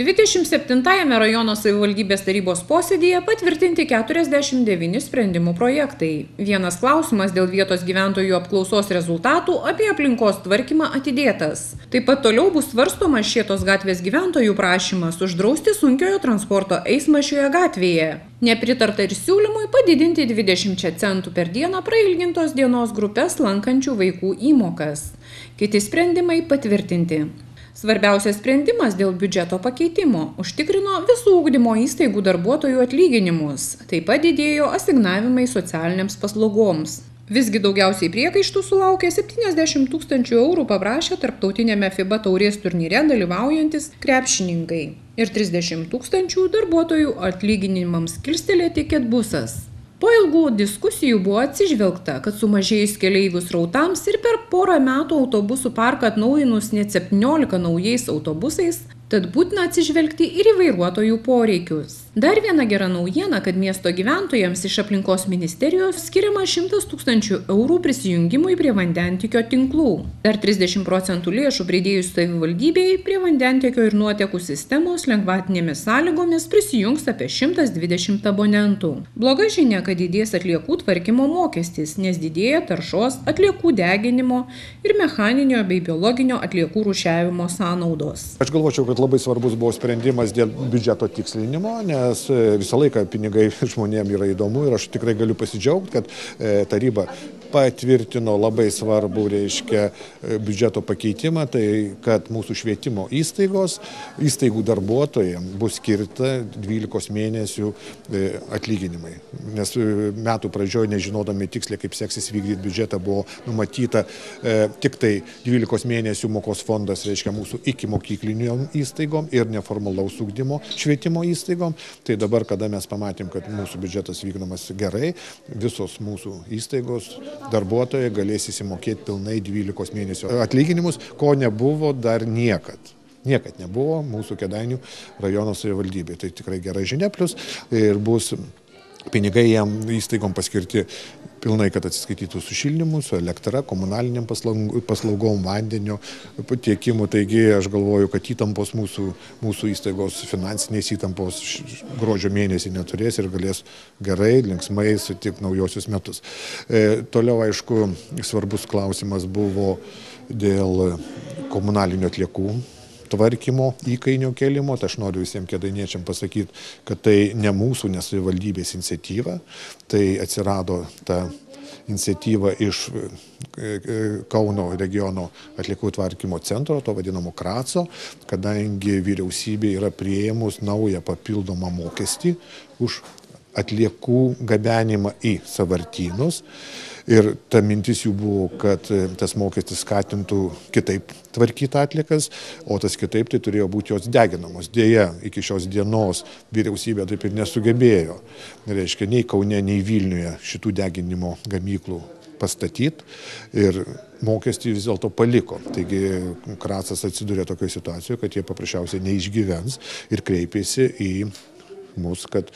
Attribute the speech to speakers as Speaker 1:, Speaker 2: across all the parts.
Speaker 1: 27-ame rajono savivaldybės tarybos posėdyje patvirtinti 49 sprendimų projektai. Vienas klausimas dėl vietos gyventojų apklausos rezultatų apie aplinkos tvarkymą atidėtas. Taip pat toliau bus svarstomas Šėtos gatvės gyventojų prašymas uždrausti sunkiojo transporto eismą šioje gatvėje. Nepritarta ir siūlymui padidinti 20 centų per dieną prailgintos dienos grupės lankančių vaikų įmokas. Kiti sprendimai patvirtinti. Svarbiausias sprendimas dėl biudžeto pakeitimo užtikrino visų ugdymo įstaigų darbuotojų atlyginimus. Taip pat didėjo asignavimai socialinėms paslaugoms. Visgi daugiausiai priekaištų sulaukė 70 000 eurų paprašę tarptautinėme FIBA taurės turnyre dalyvaujantis krepšininkai ir 30 000 darbuotojų atlyginimams kilstelėti Ketbusas. Po ilgų diskusijų buvo atsižvelgta, kad sumažėjus keleivių srautams ir per porą metų autobusų parką atnaujinus net 17 naujais autobusais, tad būtina atsižvelgti ir į vairuotojų poreikius. Dar viena gera naujiena, kad miesto gyventojams iš aplinkos ministerijos skiriama 100 000 eurų prisijungimui prie vandentiekio tinklų. Dar 30% lėšų pridėjus savivaldybei prie vandentiekio ir nuotekų sistemos lengvatinėmis sąlygomis prisijungs apie 120 abonentų. Bloga žinia, kad didės atliekų tvarkymo mokestis, nes didėja taršos, atliekų deginimo ir mechaninio bei biologinio atliekų rūšiavimo sąnaudos.
Speaker 2: Aš galvočiau, kad labai svarbus buvo sprendimas dėl biudžeto tikslinimo, nes visą laiką pinigai žmonėms yra įdomu ir aš tikrai galiu pasidžiaugti, kad taryba patvirtino labai svarbų, biudžeto pakeitimą, tai kad mūsų švietimo įstaigų darbuotojams bus skirta 12 mėnesių atlyginimai. Nes metų pradžioje, nežinodami tiksliai, kaip seksis vykdyti biudžetą, buvo numatyta tik tai 12 mėnesių mokos fondas, mūsų iki mokyklinio įstaigom ir neformalaus ugdymo švietimo įstaigom. Tai dabar, kada mes pamatėm, kad mūsų biudžetas vykdomas gerai, visos mūsų įstaigos darbuotojai galės įsimokėti pilnai 12 mėnesių atlyginimus, ko nebuvo dar niekad. Niekad nebuvo mūsų Kėdainių rajono savivaldybėje. Tai tikrai gera žinia, plus ir bus pinigai jam įstaigom paskirti pilnai, kad atsiskaitytų su šildymu, su elektra, komunaliniam paslaugom, vandenio tiekimu. Taigi aš galvoju, kad įtampos mūsų įstaigos, finansinės įtampos gruodžio mėnesį neturės ir galės gerai, linksmai sutikti naujosius metus. Toliau, aišku, svarbus klausimas buvo dėl komunalinių atliekų tvarkymo, įkainio kelimo. Tai aš noriu visiems kėdainiečiam pasakyti, kad tai ne mūsų, ne savivaldybės iniciatyva. Tai atsirado ta iniciatyva iš Kauno regiono atliekų tvarkymo centro, to vadinamo Kraco, kadangi vyriausybė yra priėmus naują papildomą mokestį už atliekų gabenimą į sąvartynus. Ir ta mintis jų buvo, kad tas mokestis skatintų kitaip tvarkyti atliekas, o tas kitaip tai turėjo būti jos deginamos. Deja, iki šios dienos vyriausybė taip ir nesugebėjo, nei Kaune, nei Vilniuje šitų deginimo gamyklų pastatyti ir mokestį vis dėlto paliko. Taigi Kracas atsidūrė tokioje situacijoje, kad jie paprasčiausiai neišgyvens ir kreipėsi į mus, kad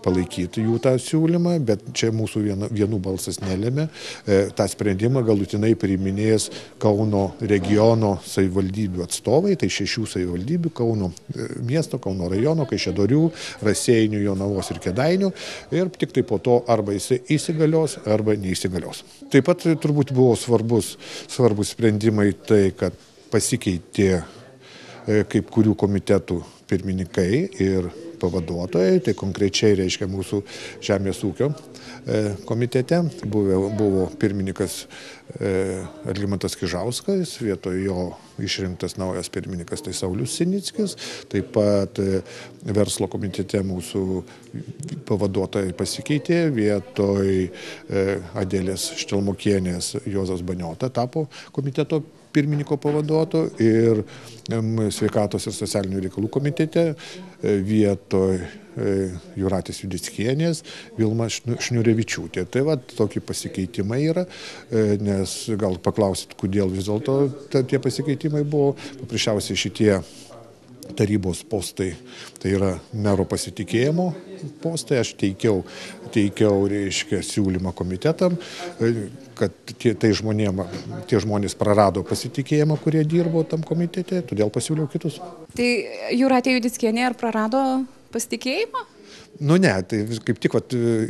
Speaker 2: palaikytų jų tą siūlymą, bet čia mūsų vienų balsas nelėmė. Ta sprendimą galutinai priiminės Kauno regiono savivaldybių atstovai, tai 6 savivaldybių, Kauno miesto, Kauno rajono, Kaišiadorių, Raseinių, Jonavos ir Kėdainių, ir tik tai po to arba jisai įsigalios, arba neįsigalios. Taip pat turbūt buvo svarbus sprendimai tai, kad pasikeitė kaip kurių komitetų pirmininkai ir pavaduotojai, tai konkrečiai mūsų Žemės ūkio komitete buvo pirmininkas Algimantas Kižauskas, vietoj jo išrinktas naujas pirmininkas, tai Saulius Sinickis, taip pat verslo komitete mūsų pavaduotojai pasikeitė, vietoj Adelės Štelmokienės Juozas Baniota tapo komiteto pirmininko pavaduotoju ir sveikatos ir socialinių reikalų komitete vietoj Jūratės Judickienės Vilma Šniurevičiūtė. Tai tokie pasikeitimai yra, nes gal paklausit, kodėl vis dėlto tie pasikeitimai buvo. Paprasčiausiai šitie tarybos postai, tai yra mero pasitikėjimo postai, aš teikiau reiškia, siūlymą komitetam, kad tie žmonės prarado pasitikėjimą, kurie dirbo tam komitete, todėl pasiūliau kitus.
Speaker 3: Tai Jūratė Judickienė ar prarado pasitikėjimą?
Speaker 2: Nu ne, tai kaip tik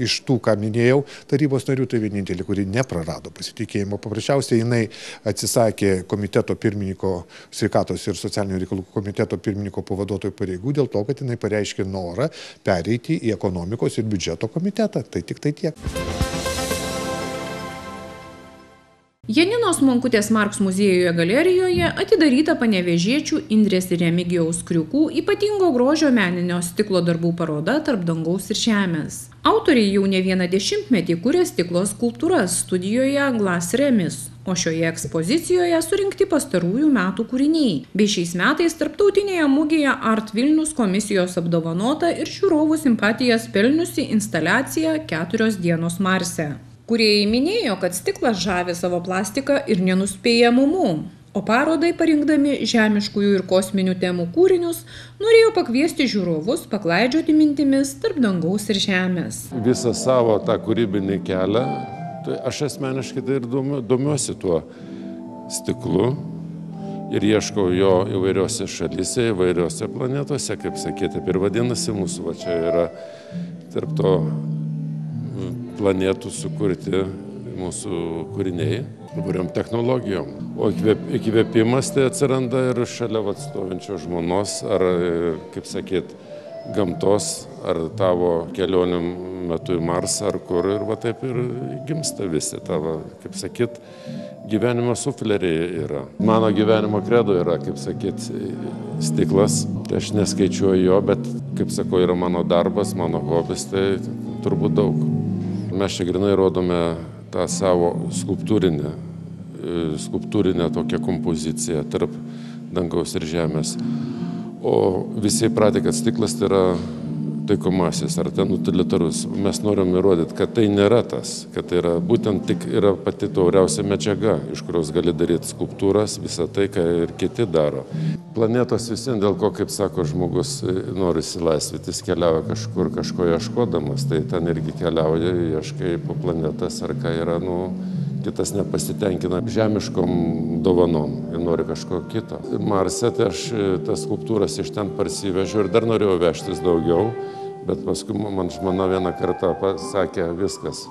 Speaker 2: iš tų, ką minėjau, tarybos narių, tai vienintelė, kuri neprarado pasitikėjimo. Paprasčiausiai jinai atsisakė komiteto pirmininko, sveikatos ir socialinių reikalų komiteto pirmininko pavaduotojų pareigų dėl to, kad jinai pareiškė norą pereiti į ekonomikos ir biudžeto komitetą. Tai tik tai tiek.
Speaker 1: Janinos Monkutės Marks muziejuje galerijoje atidaryta panevėžiečių Indrės ir Remigijaus Kriukų ypatingo grožio meninio stiklo darbų paroda Tarp dangaus ir žemės. Autoriai jau ne vieną dešimtmetį kuria stiklo skulptūras studijoje Glass Remis, o šioje ekspozicijoje surinkti pastarųjų metų kūriniai. Bei šiais metais tarptautinėje mugėje Art Vilnius komisijos apdovanota ir žiūrovų simpatijas pelniusi instaliacija 4 dienos Marse. Kūrėjai minėjo, kad stiklas žavi savo plastiką ir nenuspėjamumu, o parodai parinkdami žemiškųjų ir kosminių temų kūrinius norėjo pakviesti žiūrovus paklaidžioti mintimis tarp dangaus ir žemės.
Speaker 4: Visą savo tą kūrybinį kelią, tai aš asmeniškai tai ir domiuosi tuo stiklu ir ieškau jo įvairiose šalyse, įvairiose planetose, kaip sakėte, ir vadinasi mūsų, va čia yra tarp to planetų sukurti mūsų kūriniai įvairiom technologijom. O įkvėpimas tai atsiranda ir šalia stovinčio žmonos, ar, kaip sakyt, gamtos, ar tavo kelionių metu į Marsą, ar kur, ir va taip ir gimsta visi tavo, kaip sakyt, gyvenimo sufleriai yra. Mano gyvenimo kredo yra, kaip sakyt, stiklas. Tai aš neskaičiuoju jo, bet, kaip sakau, yra mano darbas, mano hobis, tai turbūt daug. Mes čia grinai rodome tą savo skulptūrinę tokią kompoziciją tarp dangaus ir žemės. O visi įpratę, kad stiklas tai yra taikomasis ar ten utilitarus. Mes norim įrodyti, kad tai nėra tas, kad tai yra būtent tik yra pati tauriausia medžiaga, iš kurios gali daryti skulptūras, visą tai, ką ir kiti daro. Planetos visien, dėl ko, kaip sako, žmogus nori išsilaisvyti, jis keliauja kažkur, kažko ieškodamas, tai ten irgi keliauja, ieškai po planetas, ar ką yra, kitas nepasitenkina žemiškom dovanom ir nori kažko kito. Marse tai aš tas skulptūras iš ten parsivežiau ir dar norėjau vežtis daugiau, bet paskui man žmona vieną kartą pasakė, viskas,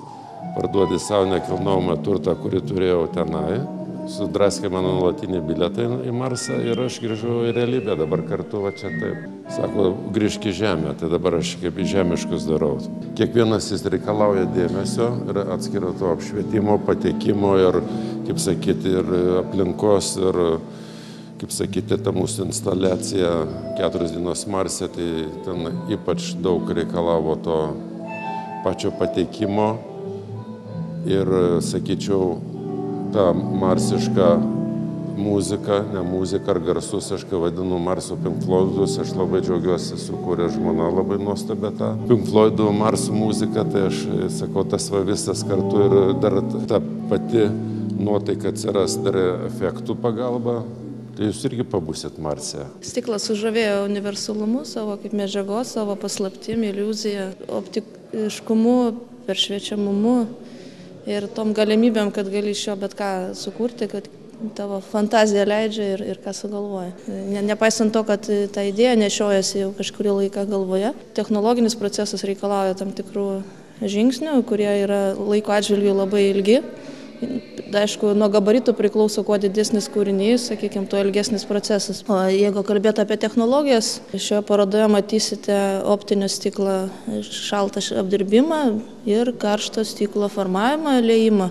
Speaker 4: parduodi savo nekilnojamą turtą, kurį turėjau tenai, sudraskė mano nuolatinį bilietą į Marsą ir aš grįžau į realybę, dabar kartu va čia taip. Sako, grįžk į Žemę, tai dabar aš kaip į žemiškus darau. Kiekvienas jis reikalauja dėmesio ir atskiro to apšvietimo, patekimo ir, kaip sakyti, ir aplinkos ir, kaip sakyti, ta mūsų instaliacija 4 dienos Marse, tai ten ypač daug reikalavo to pačio patekimo ir, sakyčiau, ta marsiška muzika, ne muzika ar garsus, aš kai vadinu Marso Pink Floydus, aš labai džiaugiuosi, sukūrė žmona labai nuostabę tą Pink Floydų Marso muziką, tai aš sakau, tas va visas kartu ir dar ta pati nuotaika atsiras dar efektų pagalba. Tai jūs irgi pabūsit Marse.
Speaker 5: Stiklas sužavėjo universalumu savo kaip medžiagos, savo paslaptim, iliuzija, optiškumu, peršviečiamumu ir tom galimybėm, kad gali iš jo bet ką sukurti, kad tavo fantazija leidžia ir ką sugalvoja. Nepaisant to, kad ta idėja nešiojasi jau kažkurį laiką galvoje, technologinis procesas reikalauja tam tikrų žingsnių, kurie yra laiko atžvilgiu labai ilgi. Aišku, nuo gabaritų priklauso, kuo didesnis kūrinys, sakykime, tuo ilgesnis procesas. O jeigu kalbėtų apie technologijas, šioje parodoje matysite optinio stiklo šaltą apdirbimą ir karšto stiklo formavimą, liejimą.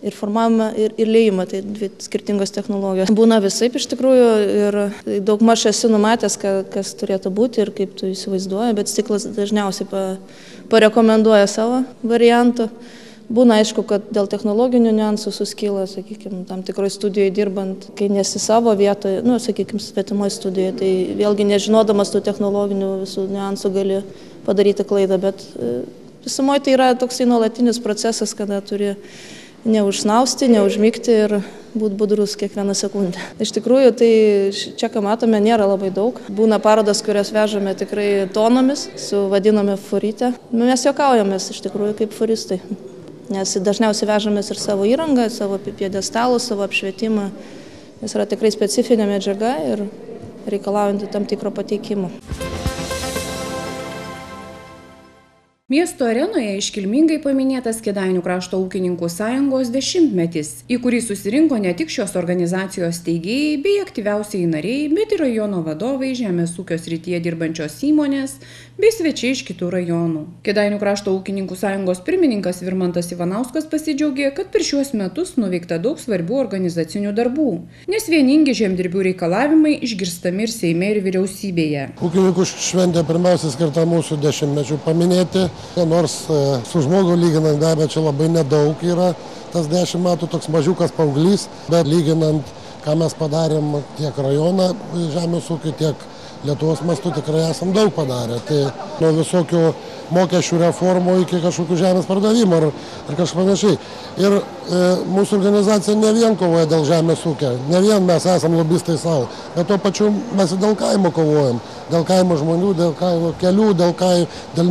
Speaker 5: Ir formavimą, ir liejimą, tai 2 skirtingos technologijos. Būna visaip iš tikrųjų ir daugmaž esi numatęs, kas turėtų būti ir kaip tu įsivaizduoji, bet stiklas dažniausiai parekomenduoja savo variantų. Būna aišku, kad dėl technologinių niuansų suskyla, sakykime, tam tikroje studijoje dirbant, kai nesi savo vietoje, sakykime, svetimoje studijoje, tai vėlgi nežinodamas tų technologinių visų niuansų gali padaryti klaidą, bet visumoje tai yra toksai nuolatinis procesas, kada turi neužsnausti, neužmigti ir būti budrus kiekvieną sekundę. Iš tikrųjų, tai čia, ką matome, nėra labai daug. Būna parodas, kurias vežame tikrai tonomis, su vadiname furytę. Mes juokaujamės iš tikrųjų kaip furistai, nes dažniausiai vežamės ir savo įrangą, savo piedestalus, savo apšvietimą. Jis yra tikrai specifinė medžiaga ir reikalaujanti tam tikro pateikimo.
Speaker 1: Miesto arenoje iškilmingai paminėtas Kėdainių krašto ūkininkų sąjungos 10-metis, į kurį susirinko ne tik šios organizacijos steigėjai bei aktyviausiai nariai, bet ir rajono vadovai, žemės ūkio srityje dirbančios įmonės bei svečiai iš kitų rajonų. Kėdainių krašto ūkininkų sąjungos pirmininkas Virmantas Ivanauskas pasidžiaugė, kad per šiuos metus nuveikta daug svarbių organizacinių darbų, nes vieningi žemdirbių reikalavimai išgirstami ir Seime, ir vyriausybėje.
Speaker 6: Ūkininkų šventė pirmiausia skirta mūsų 10-mečių paminėti. Nors su žmogu lyginant be abejo čia labai nedaug yra, tas 10 metų toks mažiukas paauglys, bet lyginant, ką mes padarėm tiek rajoną žemės ūkį, tiek Lietuvos mastu tikrai esam daug padarę. Tai nuo visokių mokesčių reformų iki kažkokių žemės pardavimo ar kažkas panašiai. Ir mūsų organizacija ne vien kovoja dėl žemės ūkio, ne vien mes esam lobistai savo, bet tuo pačiu mes ir dėl kaimo kovojam. Dėl kaimo žmonių, dėl kaimo kelių, dėl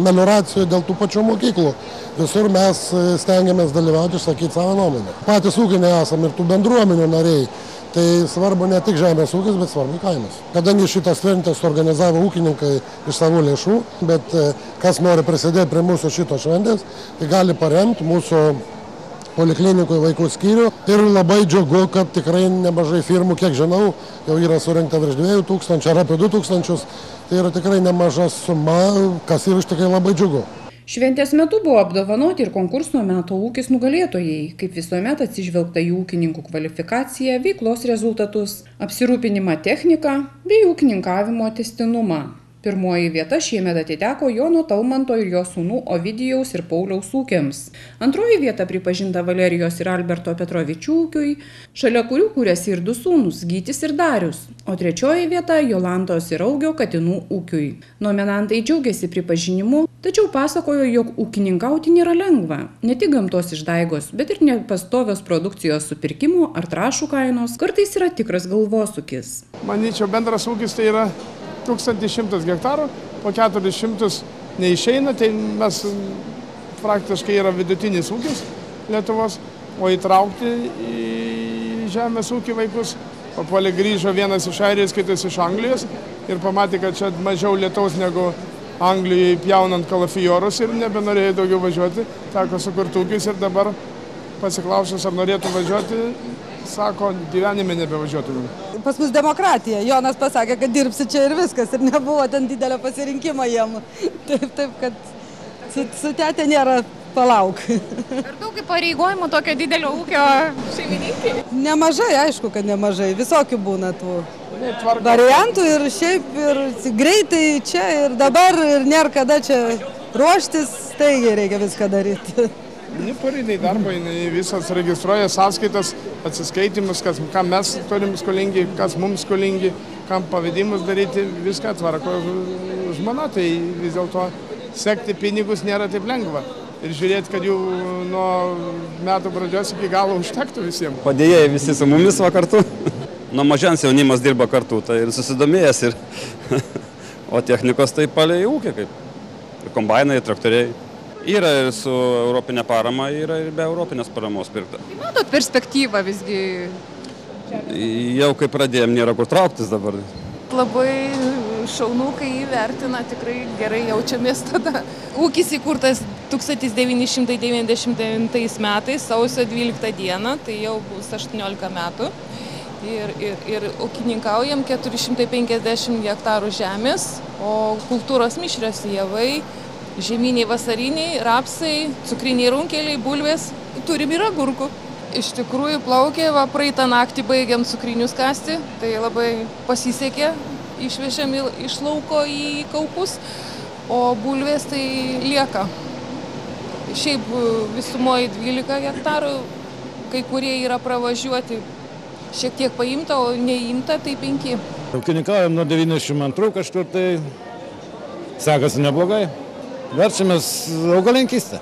Speaker 6: melioracijų, dėl tų pačių mokyklų. Visur mes stengiamės dalyvauti, išsakyti savo nuomonę. Patys ūkiniai esam ir tų bendruomenių nariai. Tai svarbu ne tik žemės ūkis, bet svarbu kaimas. Kadangi šitas šventės organizavo ūkininkai iš savo lėšų, bet kas nori prisidėti prie mūsų šito šventės, tai gali paremti mūsų poliklinikų vaikų skyrių. Ir labai džiugu, kad tikrai nemažai firmų, kiek žinau, jau yra surinkta virš 2000 ar apie 2000. Tai yra tikrai nemaža suma, kas yra iš tikrai labai džiugu.
Speaker 1: Šventės metu buvo apdovanoti ir konkurso metų ūkis nugalėtojai, kaip visuomet atsižvelgta į ūkininkų kvalifikaciją, veiklos rezultatus, apsirūpinimą techniką bei ūkininkavimo tęstinumą. Pirmoji vieta šiemet atiteko Jono Talmanto ir jo sūnų Ovidijaus ir Pauliaus ūkiams. Antroji vieta pripažinta Valerijos ir Alberto Petrovičių ūkiui, šalia kurių kūrėsi ir 2 sūnūs Gytis ir Darius, o trečioji vieta Jolantos ir Augio katinų ūkiui. Nominantai džiaugiasi pripažinimu, tačiau pasakojo, jog ūkininkauti nėra lengva. Ne tik gamtos išdaigos, bet ir nepastovios produkcijos supirkimo ar trąšų kainos kartais yra tikras galvosūkis.
Speaker 7: Manyčiau, bendras ūkis tai yra 1100 hektarų, po 400 neišeina, tai mes praktiškai yra vidutinis ūkis Lietuvos, o įtraukti į žemės ūkį vaikus. Papuolė grįžo vienas iš Airijos, kitas iš Anglijos ir pamatė, kad čia mažiau lietaus negu Anglijoje pjaunant kalafijorus ir nebenorėjo daugiau važiuoti. Teko sukurti ūkis ir dabar pasiklausęs, ar norėtų važiuoti, sako, gyvenime nebevažiuotų.
Speaker 8: Pas mus demokratija. Jonas pasakė, kad dirbsi čia ir viskas. Ir nebuvo ten didelio pasirinkimo jiem. Taip, kad su tete nėra palauk.
Speaker 3: Ir daug įpareigojimų tokio didelio ūkio šeimininkai?
Speaker 8: Nemažai, aišku, kad nemažai. Visokių būna tų variantų ir šiaip ir greitai čia ir dabar ir nėra kada čia ruoštis, taigi reikia viską daryti.
Speaker 7: Pareidai darbo, visas registruoja sąskaitas, atsiskaitimus, kam mes turim skolingi, kas mums skolingi, kam pavedimus daryti, viską tvarko žmona, tai vis dėlto sekti pinigus nėra taip lengva. Ir žiūrėti, kad jų nuo metų pradžios iki galo užtektų visiems.
Speaker 9: Padėjėjai visi su mumis va kartu. Nuo mažens jaunimas dirba kartu, tai ir susidomėjęs. O technikos tai palei ūkį, kaip ir kombainai, traktoriai. Yra ir su europinė parama, yra ir be europinės paramos pirkta.
Speaker 3: Matot perspektyvą visgi?
Speaker 9: Jau kai pradėjom, nėra kur trauktis dabar.
Speaker 10: Labai šaunu, kai įvertina, tikrai gerai jaučiamės tada. Ūkis įkurtas 1999 metais, sausio 12 dieną, tai jau bus 18 metų. Ir ūkininkaujam 450 hektarų žemės, o kultūros mišrios javai, žieminiai, vasariniai, rapsai, cukriniai runkeliai, bulvės, turim ir agurkų. Iš tikrųjų plaukė, praeitą naktį baigiam cukrinius kasti, tai labai pasisekė, išvežėm iš lauko į kaupus, o bulvės tai lieka. Šiaip visumoje 12 hektarų, kai kurie yra pravažiuoti, šiek tiek paimta, o neimta tai 5.
Speaker 11: Ūkininkaujam nuo 92 kažkur, tai sekasi neblogai. Verčiamės augalininkystę.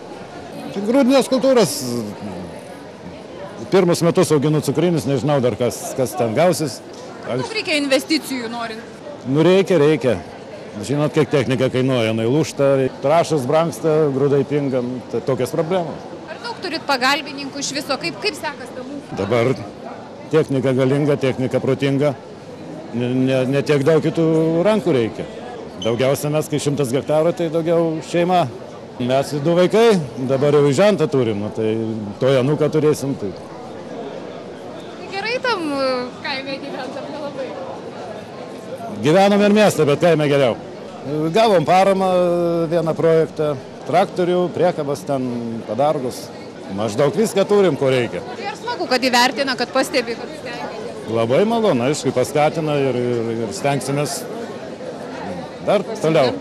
Speaker 11: Grūdinės kultūros Pirmus metus auginu cukrinius, nežinau dar kas ten gausis.
Speaker 1: Kaip reikia investicijų norint?
Speaker 11: Nu reikia. Žinot, kiek technika kainuoja, jinai lūžta, trąšas brangsta, grūdai pinga, tai tokios problemos.
Speaker 1: Ar daug turit pagalbininkų iš viso? Kaip sekas tam ūkiui?
Speaker 11: Dabar technika galinga, technika protinga, ne tiek daug kitų rankų reikia. Daugiausia mes, kai 100 hektarų, tai daugiau šeima. Mes 2 vaikai, dabar jau žentą turim, tai to januką turėsim. Tai
Speaker 1: gerai tam kaime gyventam nelabai?
Speaker 11: Gyvenam ir miestą, bet kaime geriau. Gavom paramą vieną projektą, traktorių, priekabas ten, padargus. Maždaug viską turim, ko reikia.
Speaker 1: Ir smagu, kad įvertina, kad pastebi, kad stengiatės.
Speaker 11: Labai malonu, aišku, paskatina ir stengsimės dar toliau.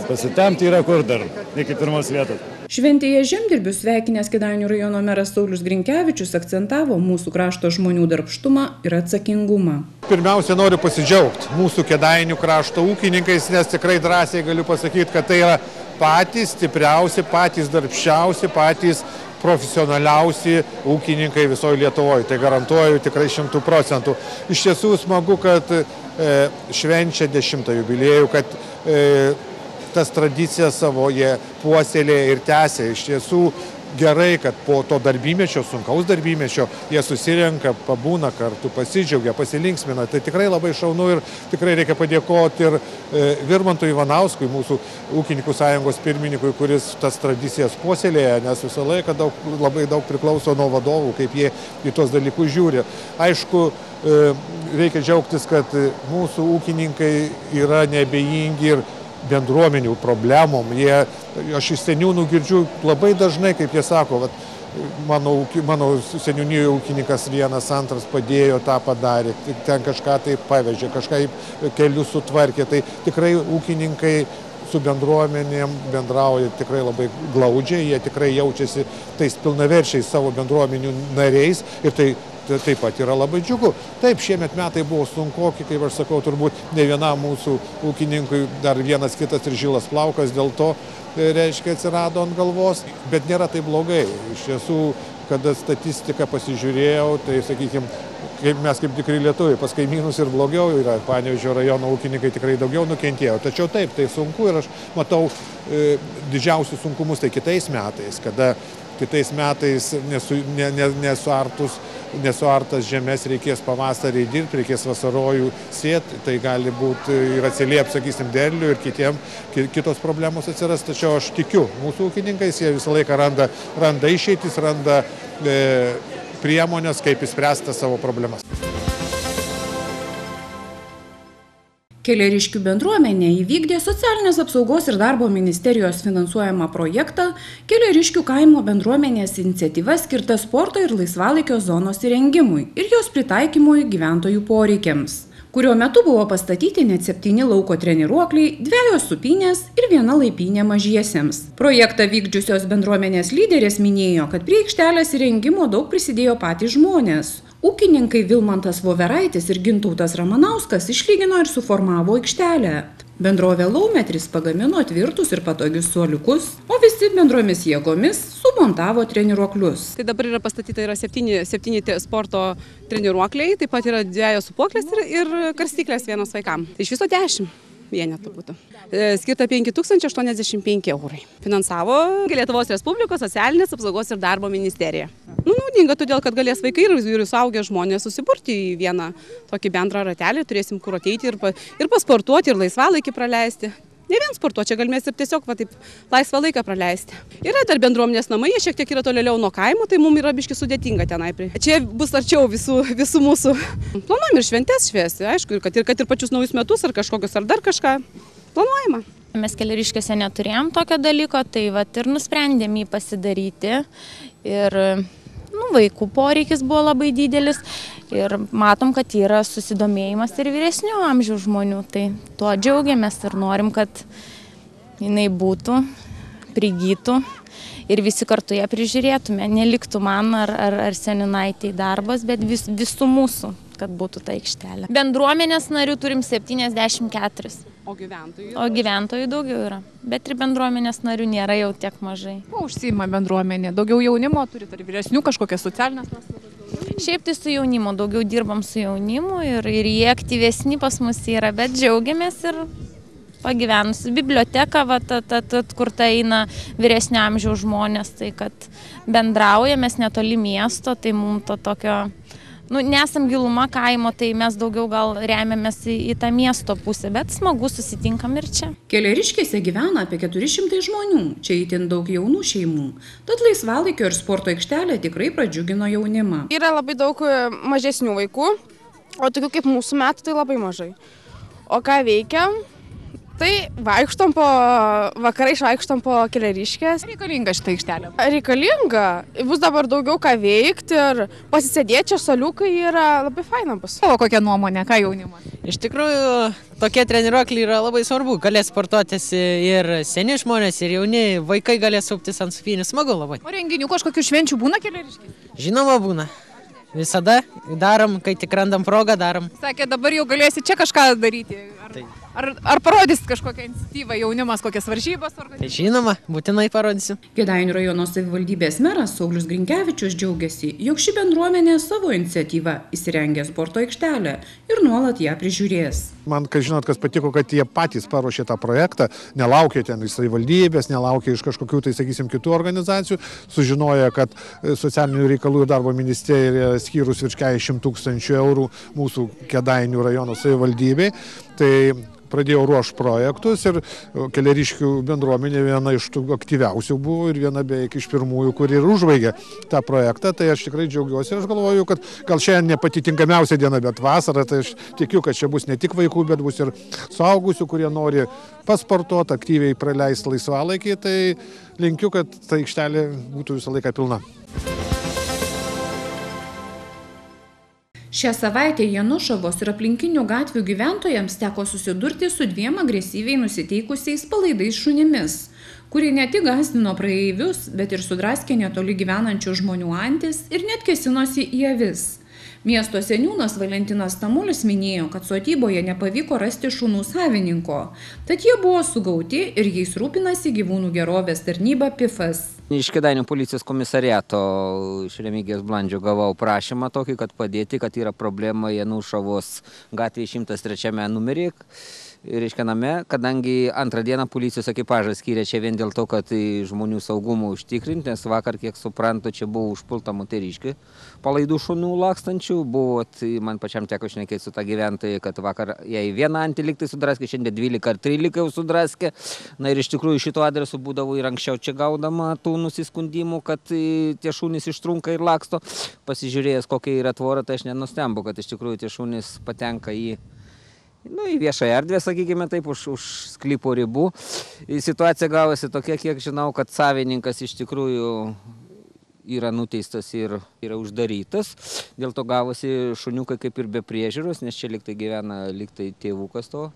Speaker 11: Pasitemti yra kur dar, iki 1 vietos.
Speaker 1: Šventėje žemdirbius sveikinęs Kėdainių rajono meras Saulius Grinkevičius akcentavo mūsų krašto žmonių darbštumą ir atsakingumą.
Speaker 2: Pirmiausia, noriu pasidžiaugti mūsų Kėdainių krašto ūkininkais, nes tikrai drąsiai galiu pasakyti, kad tai yra patys stipriausi, patys darbščiausi, patys profesionaliausi ūkininkai visoje Lietuvoje. Tai garantuoju tikrai 100%. Iš tiesų smagu, kad švenčia 10 jubiliejų, kad tas tradicijas savo jie puoselėja ir tęsia. Iš tiesų gerai, kad po to darbymečio, sunkaus darbymečio, jie susirenka, pabūna kartu, pasidžiaugia, pasilinksmina. Tai tikrai labai šaunu ir tikrai reikia padėkoti ir Virmantui Ivanauskui, mūsų ūkininkų sąjungos pirmininkui, kuris tas tradicijas puoselėja, nes visą laiką labai daug priklauso nuo vadovų, kaip jie į tos dalykus žiūri. Aišku, reikia džiaugtis, kad mūsų ūkininkai yra neabejingi ir bendruomenių problemom. Aš iš seniūnų girdžiu labai dažnai, kaip jie sako, mano seniūnijoje ūkininkas 1-2 padėjo, tą padarė, ten kažką tai pavežė, kažką kelius sutvarkė. Tai tikrai ūkininkai su bendruomenėm bendrauja tikrai labai glaudžiai, jie tikrai jaučiasi tais pilnaverčiais savo bendruomenių nariais ir tai taip pat yra labai džiugu. Taip, šiemet metai buvo sunkoki, kaip aš sakau, turbūt ne vienam mūsų ūkininkui, dar vienas kitas ir žilas plaukas dėl to, reiškia, atsirado ant galvos, bet nėra tai blogai. Iš tiesų, kada statistiką pasižiūrėjau, tai, sakykime, mes kaip tikri lietuviai, pas kaimynus ir blogiau yra, Panevėžio rajono ūkininkai tikrai daugiau nukentėjo. Tačiau taip, tai sunku ir aš matau didžiausius sunkumus tai kitais metais, kada kitais metais nesuartas žemės reikės pavasarį dirbti, reikės vasarojų sėti, tai gali būti ir atsiliep, sakysim, derlių ir kitos problemos atsiras. Tačiau aš tikiu mūsų ūkininkais, jie visą laiką randa išeitis, randa priemonės, kaip išspręsti savo problemas.
Speaker 1: Keleriškių bendruomenė įvykdė Socialinės apsaugos ir darbo ministerijos finansuojamą projektą Keleriškių kaimo bendruomenės iniciatyva skirta sporto ir laisvalaikio zonos įrengimui ir jos pritaikymui gyventojų poreikiams, kurio metu buvo pastatyti net 7 lauko treniruokliai, 2 supynės ir 1 laipynė mažiesiems. Projektą vykdžiusios bendruomenės lyderės minėjo, kad prie aikštelės įrengimo daug prisidėjo patys žmonės. Ūkininkai Vilmantas Voveraitis ir Gintautas Ramanauskas išlygino ir suformavo aikštelę. Bendrovė Laumetris pagamino tvirtus ir patogius suoliukus, o visi bendromis jėgomis sumontavo treniruoklius.
Speaker 3: Tai dabar yra pastatyta 7 sporto treniruokliai, taip pat yra 2 sūpuoklės ir karstyklės 1 vaikam. Tai iš viso 10 vienetų būtų. Skirta 5085 eurai. Finansavo Lietuvos Respublikos Socialinės apsaugos ir darbo ministerija. Naudinga todėl, kad galės vaikai ir suaugę žmonės susiburti į vieną tokį bendrą ratelį, turėsim kur ateiti ir pasportuoti, ir laisvalaikį praleisti. Ne vien sportuoti, čia galimės ir tiesiog taip laisvą laiką praleisti. Yra dar bendruomenės namai, jie šiek tiek yra tolėliau nuo kaimo, tai mums yra biški sudėtinga tenai. Čia bus arčiau visų mūsų. Planuojam ir šventes švęsti, aišku, kad ir pačius naujus metus ar kažkokius ar dar kažką planuojama.
Speaker 12: Mes Keleriškėse neturėjom tokio dalyko, tai ir nusprendėm jį pasidaryti. Ir vaikų poreikis buvo labai didelis ir matom, kad yra susidomėjimas ir vyresnių amžiaus žmonių. Tai tuo džiaugiamės ir norim, kad jinai būtų, prigytų ir visi kartu ją prižiūrėtume. Neliktų man ar seninaitei darbas, bet visų mūsų, kad būtų ta aikštelė. Bendruomenės narių turim 74.
Speaker 3: O gyventojų?
Speaker 12: O gyventojų daugiau yra, bet ir bendruomenės narių nėra jau tiek mažai.
Speaker 1: Kuo užsiima bendruomenė? Daugiau jaunimo turit ar vyresnių kažkokias socialinės paslaugas?
Speaker 12: Šiaip tai su jaunimu, daugiau dirbam su jaunimu ir jie aktyvesni pas mus yra, bet džiaugiamės ir pagyvenusi. Biblioteka, kur tai eina vyresnio amžiaus žmonės, tai kad bendraujamės netoli miesto, tai mums to tokio... Nesam giluma kaimo, tai mes daugiau gal remiamės į tą miesto pusę, bet smagu susitinkam ir čia.
Speaker 1: Keleriškėse gyvena apie 400 žmonių, čia itin daug jaunų šeimų, tad laisvalaikio ir sporto aikštelė tikrai pradžiugino jaunimą.
Speaker 13: Yra labai daug mažesnių vaikų, o tokių kaip mūsų metų tai labai mažai. O ką veikiam? Tai vakarai vaikštom po Keleriškės.
Speaker 14: Reikalinga šitą aikštelę?
Speaker 13: Reikalinga. Bus dabar daugiau ką veikti ir pasisėdėti, čia soliukai yra labai faina bus.
Speaker 14: O kokia nuomonė, ką jaunimas?
Speaker 15: Iš tikrųjų, tokie treniruokliai yra labai svarbu. Galės sportuotis ir seni žmonės, ir jauni vaikai galės suptis ant sufinių. Smagu labai.
Speaker 14: O renginių kažkokių švenčių būna Keleriškės?
Speaker 15: Žinoma, būna. Visada darom, kai tik randam progą, darom.
Speaker 14: Sakė, dabar jau galėsi čia kažką daryti. Ar parodysit kažkokią iniciatyvą jaunimas, kokias varžybas organizuoja?
Speaker 15: Žinoma, būtinai parodysiu.
Speaker 1: Kėdainių rajono savivaldybės meras Saulius Grinkevičius džiaugiasi, jog ši bendruomenė savo iniciatyvą įsirengė sporto aikštelę ir nuolat ją prižiūrės.
Speaker 2: Man, kas patiko, kad jie patys paruošė tą projektą, nelaukė ten iš savivaldybės, nelaukė iš kažkokių, tai sakysim, kitų organizacijų, sužinoja, kad socialinių reikalų ir darbo ministerija skyrus virš 40 000 eurų mūsų Kėdainių rajono savivaldybei. Tai pradėjau ruošti projektus ir Keleriškių bendruomenė viena iš tų aktyviausių buvo ir viena beveik iš pirmųjų, kuri ir užbaigė tą projektą. Tai aš tikrai džiaugiuosi ir aš galvoju, kad gal šiandien ne pati tinkamiausia diena, bet vasara, tai aš tikiu, kad čia bus ne tik vaikų, bet bus ir suaugusių, kurie nori pasportuoti, aktyviai praleisti laisvalaikį. Tai linkiu, kad ta aikštelė būtų visą laiką pilna.
Speaker 1: Šią savaitę Janušavos ir aplinkinių gatvių gyventojams teko susidurti su 2 agresyviai nusiteikusiais palaidais šunimis, kurie ne tik gąsdino praeivius, bet ir sudraskė netoli gyvenančių žmonių antis ir net kėsinosi į avis. Miesto seniūnas Valentinas Tamulis minėjo, kad sodyboje nepavyko rasti šunų savininko, tad jie buvo sugauti ir jais rūpinasi gyvūnų gerovės tarnyba PIFas.
Speaker 16: Iš Kėdainių policijos komisariato iš Remigijos Blandžio gavau prašymą tokį, kad padėti, kad yra problema Janušavos gatvėje 103 numerį. Reiškia name, kadangi antrą dieną policijos ekipažas skyrė čia vien dėl to, kad žmonių saugumą užtikrinti, nes vakar, kiek suprantu, čia buvo užpulta moteriškė palaidų šunų lakstančių. Buvo, man pačiam teko šnekėti su tą gyventoją, kad vakar jai vieną antį liktai sudraskė, šiandien 12 ar 13 jau sudraskė. Na ir iš tikrųjų šito adresu būdavo ir anksčiau čia gaudama tų nusiskundimų, kad tie šunys ištrunka ir laksto. Pasižiūrėjęs, kokia yra tvora, tai aš nenustembu, kad iš tikrųjų tie šunys patenka į viešąją erdvę, sakykime taip, už sklypo ribų. Situacija gavosi tokia, kiek žinau, kad savininkas iš tikrųjų yra nuteistas ir yra uždarytas. Dėl to gavosi šuniukai kaip ir be priežiūros, nes čia liktai gyvena tėvukas to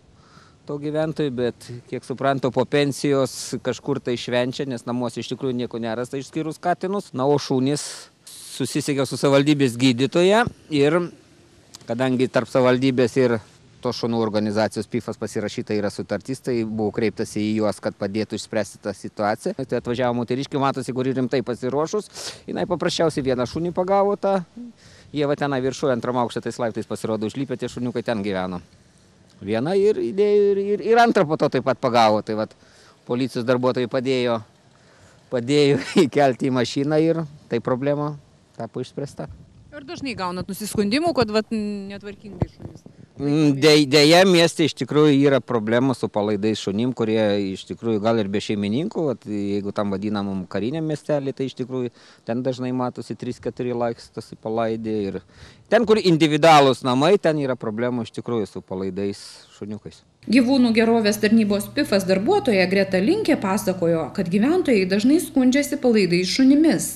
Speaker 16: gyventojų, bet kiek suprantu, po pensijos kažkur tai švenčia, nes namuose iš tikrųjų nieko nerasta išskyrus katinus. Na, o šunys susisiekė su savivaldybės gydytoja ir kadangi tarp savivaldybės ir tos šunų organizacijos PIFas pasirašyta yra sutartis, tai buvo kreiptasi į juos, kad padėtų išspręsti tą situaciją. Tai atvažiavo moteriškė, matosi, kuri rimtai pasiruošus. Jinai paprasčiausiai vieną šunį pagavo tą. Jie va tenai viršuje antram aukšte tais laiptais pasirodo užlipę, tie šuniukai ten gyveno. Vieną ir antrą po to taip pat pagavo. Tai va policijos darbuotojai padėjo įkelti į mašiną ir tai problema tapo išspręsta.
Speaker 14: Ir dažnai gaunat nusiskundimų, kad netvarkingai šunys?
Speaker 16: Deja, mieste iš tikrųjų yra problemų su palaidais šunim, kurie iš tikrųjų gal ir be šeimininkų, jeigu tam vadinamam kariniam miestelį, tai iš tikrųjų ten dažnai matosi 3-4 lakstosi palaidė ir ten, kur individualūs namai, ten yra problemų iš tikrųjų su palaidais šuniukais.
Speaker 1: Gyvūnų gerovės tarnybos PIFas darbuotoja Greta Linkė pasakojo, kad gyventojai dažnai skundžiasi palaidais šunimis,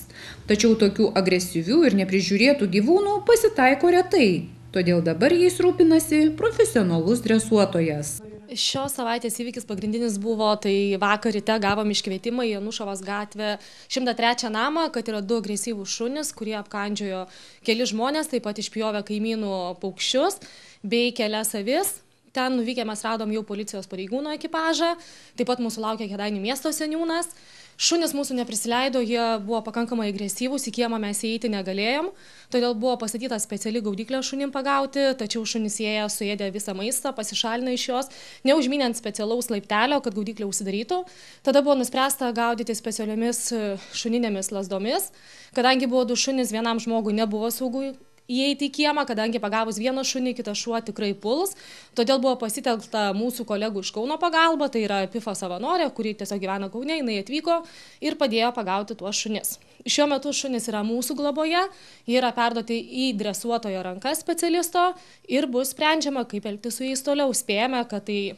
Speaker 1: tačiau tokių agresyvių ir neprižiūrėtų gyvūnų pasitaiko retai. Todėl dabar jais rūpinasi profesionalus dresuotojas.
Speaker 17: Šios savaitės įvykis pagrindinis buvo, tai vakar ryte gavom iškvietimą į Janušavos gatvę 103 namą, kad yra 2 agresyvūs šunys, kurie apkandžiojo keli žmonės, taip pat išpjovė kaimynų paukščius bei kelias avis. Ten nuvykę mes radom jau policijos pareigūno ekipažą, taip pat mūsų laukia Kėdainių miesto seniūnas. Šunys mūsų neprisileido, jie buvo pakankamai agresyvūs, į kiemą mes įeiti negalėjom, todėl buvo pastatyta speciali gaudyklė šunim pagauti, tačiau šunys ėjo, suėdė visą maistą, pasišalino iš jos, neužmynė ant specialaus laiptelio, kad gaudyklė užsidarytų. Tada buvo nuspręsta gaudyti specialiomis šuninėmis lazdomis, kadangi buvo 2 šunys, vienam žmogui nebuvo saugu įeiti į kiemą, kadangi pagavus vieną šunį, kitas šuo tikrai puls. Todėl buvo pasitelkta mūsų kolegų iš Kauno pagalba, tai yra PIFA savanorė, kuri tiesiog gyvena Kaune, jinai atvyko ir padėjo pagauti tuos šunis. Šiuo metu šunys yra mūsų globoje, jie yra perduoti į dresuotojo rankas specialisto ir bus sprendžiama, kaip elgtis su jais toliau. Spėjame, kad tai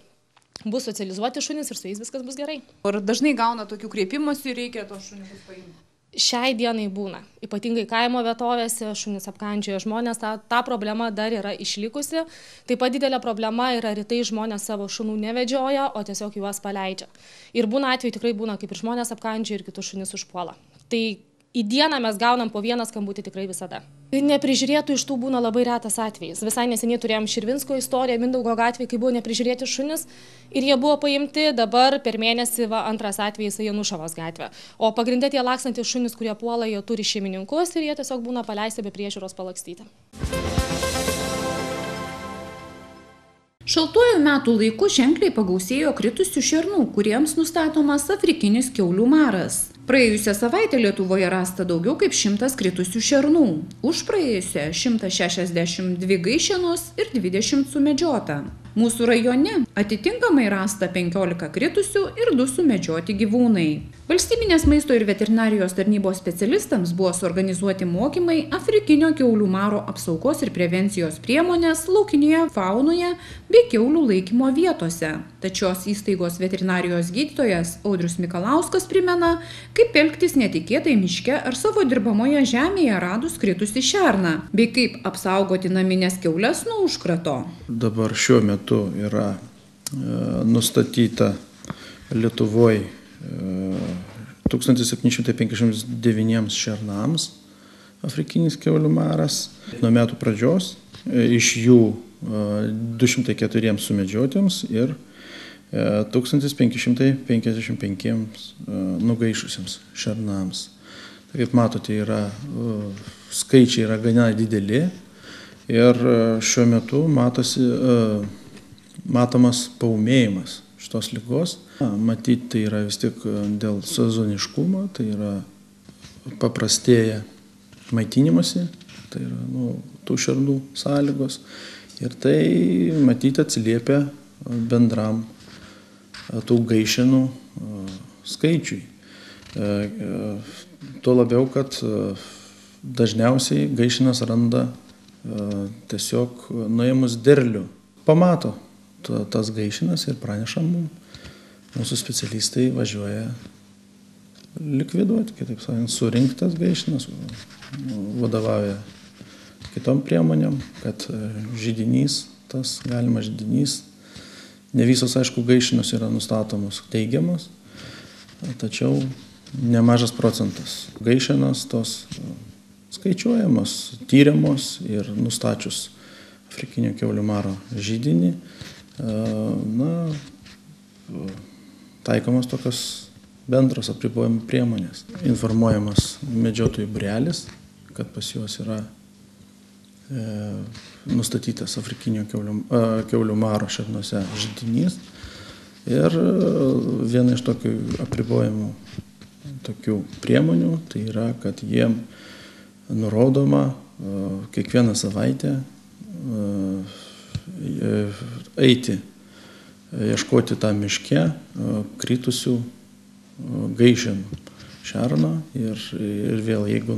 Speaker 17: bus socializuoti šunys ir su jais viskas bus gerai.
Speaker 14: Ar dažnai gauna tokių kreipimųsi ir reikia tos šuniukus paimti?
Speaker 17: Šiai dienai būna. Ypatingai kaimo vietovėse šunys apkandžioja žmonės, ta problema dar yra išlikusi. Taip pat didelė problema yra rytai žmonės savo šunų nevedžioja, o tiesiog juos paleidžia. Ir būna atveju tikrai būna, kaip ir žmonės apkandžioja ir kitus šunis užpuola. Tai į dieną mes gaunam po 1 skambutį tikrai visada. Neprižiūrėtų iš tų būna labai retas atvejis. Visai neseniai turėjom Širvinsko istoriją, Mindaugo gatvėje, kai buvo neprižiūrėti šunis ir jie buvo paimti, dabar per mėnesį 2 atvejis Janušavos gatvė. O pagrindė tie lakstantys šunis, kurie puola, jie turi šeimininkus ir jie tiesiog būna paleisti be priežiūros palakstyti.
Speaker 1: Šaltuoju metų laiku ženkliai pagausėjo kritusių šernų, kuriems nustatomas afrikinis kiaulių maras. Praėjusią savaitę Lietuvoje rasta daugiau kaip 100 kritusių šernų. Už praėjusią 162 gaišenos ir 20 sumedžiota. Mūsų rajone atitinkamai rasta 15 kritusių ir 2 sumedžioti gyvūnai. Valstybinės maisto ir veterinarijos tarnybos specialistams buvo suorganizuoti mokymai afrikinio kiaulių maro apsaugos ir prevencijos priemonės laukinėje faunoje bei kiaulių laikymo vietose. Tačios įstaigos veterinarijos gydytojas Audrius Mikalauskas primena, kaip elgtis netikėtai miške ar savo dirbamoje žemėje radus kritusį šerną, bei kaip apsaugoti namines kiaules nuo užkrato.
Speaker 18: Dabar šiuo metu yra nustatyta Lietuvoje 1759 šernams afrikinis kiaulių maras. Nuo metų pradžios iš jų 204 sumedžiotiems ir 1555 nugaišusiems šernams. Tai kaip matote, skaičiai yra gana dideli ir šiuo metu matomas paūmėjimas šitos ligos. Matyti, tai yra vis tik dėl sezoniškumo, tai yra paprastėja maitinimasi, tai yra tų šernų sąlygos ir tai matyti atsiliepia bendram tų gaišenų skaičiui. Tuo labiau, kad dažniausiai gaišenas randa tiesiog nuėmus derlių. Pamato tas gaišenas ir praneša mums. Mūsų specialistai važiuoja likviduoti, kitaip sakant, surinktas gaišenas, vadovauja kitom priemonėm, kad židinys, tas galimas židinys, ne visos, aišku, gaišenos yra nustatomos teigiamos, tačiau nemažas procentas gaišenos tos skaičiuojamos, tyriamos ir nustačius afrikinio kiaulių maro židinį, taikomos tokios bendros apribojimų priemonės. Informuojamas medžiotojų būrelis, kad pas juos yra nustatytas afrikinio kiaulių maro šernose židinys. Ir viena iš tokių apribojimų tokių priemonių, tai yra, kad jiem nurodoma kiekvieną savaitę eiti, ieškoti tą miške kritusių gaišenų šerną ir vėl, jeigu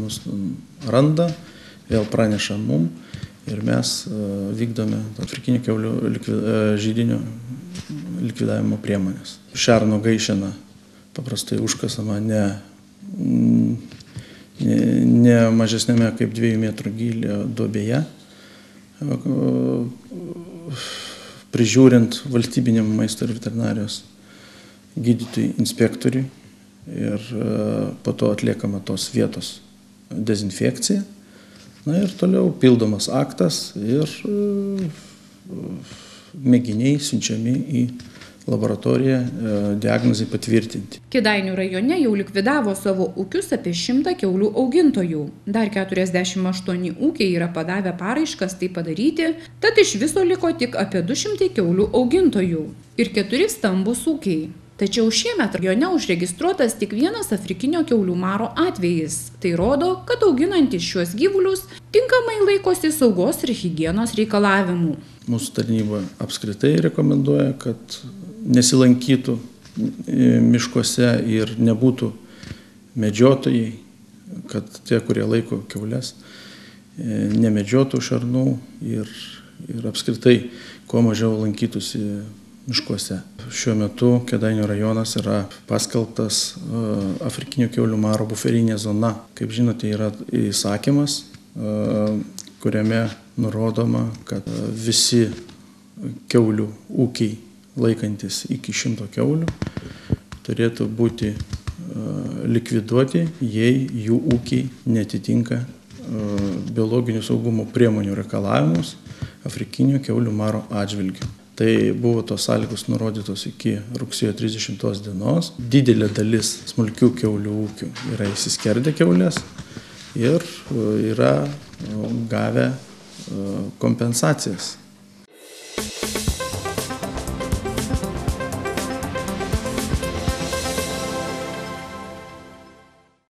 Speaker 18: randa, vėl praneša mum ir mes vykdome afrikinio kiaulių židinio likvidavimo priemonės. Šerno gaišena paprastai užkasama ne mažesnėme kaip 2 metrų gylio duobėje, prižiūrint valstybiniam maisto ir veterinarijos gydytojui inspektoriui ir po to atliekama tos vietos dezinfekcija. Ir toliau pildomas aktas ir mėginiai siunčiami į laboratoriją diagnozai patvirtinti.
Speaker 1: Kėdainių rajone jau likvidavo savo ūkius apie 100 kiaulių augintojų. Dar 48 ūkiai yra padavę paraiškas tai padaryti, tad iš viso liko tik apie 200 kiaulių augintojų ir 4 stambūs ūkiai. Tačiau šiemet rajone užregistruotas tik vienas afrikinio kiaulių maro atvejis. Tai rodo, kad auginantys šiuos gyvulius tinkamai laikosi saugos ir higienos reikalavimų.
Speaker 18: Mūsų tarnyba apskritai rekomenduoja, kad nesilankytų miškuose ir nebūtų medžiotojai, kad tie, kurie laiko kiaules, nemedžiotų šernų ir apskritai kuo mažiau lankytųsi miškuose. Šiuo metu Kėdainių rajonas yra paskelbtas afrikinio kiaulių maro buferinė zona. Kaip žinote, yra įsakymas, kuriame nurodoma, kad visi kiaulių ūkiai laikantis iki 100 kiaulių turėtų būti likviduoti, jei jų ūkiai netitinka biologinių saugumo priemonių reikalavimus afrikinio kiaulių maro atžvilgiu. Tai buvo tos sąlygos nurodytos iki rugsėjo 30 dienos. Didelė dalis smulkių kiaulių ūkių yra įsiskerdę kiaulės ir yra gavę kompensacijas